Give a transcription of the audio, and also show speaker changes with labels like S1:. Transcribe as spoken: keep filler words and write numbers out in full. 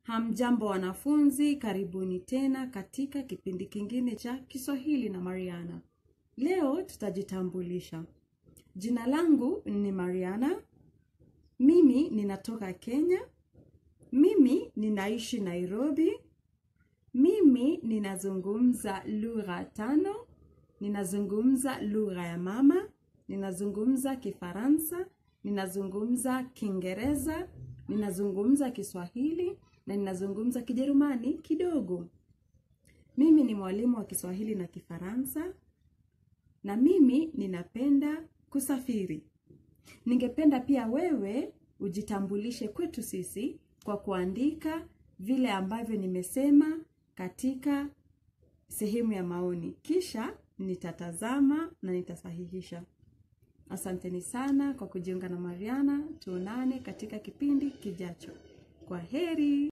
S1: Hamjambo wanafunzi, karibuni tena katika kipindi kingine cha Kiswahili na Mariana. Leo tutajitambulisha. Jina langu ni Mariana. Mimi ninatoka Kenya. Mimi ninaishi Nairobi. Mimi ninazungumza lugha tano. Ninazungumza lugha ya mama, ninazungumza Kifaransa, ninazungumza Kiingereza, ninazungumza Kiswahili na ninazungumza Kijerumani kidogo. Mimi ni mwalimu wa Kiswahili na Kifaransa na mimi ninapenda kusafiri. Ningependa pia wewe ujitambulishe kwetu sisi kwa kuandika vile ambavyo nimesema katika sehemu ya maoni. Kisha nitatazama na nitasahihisha. Asanteni sana kwa kujiunga na Mariana. Tuonane katika kipindi kijacho. Kwa heri.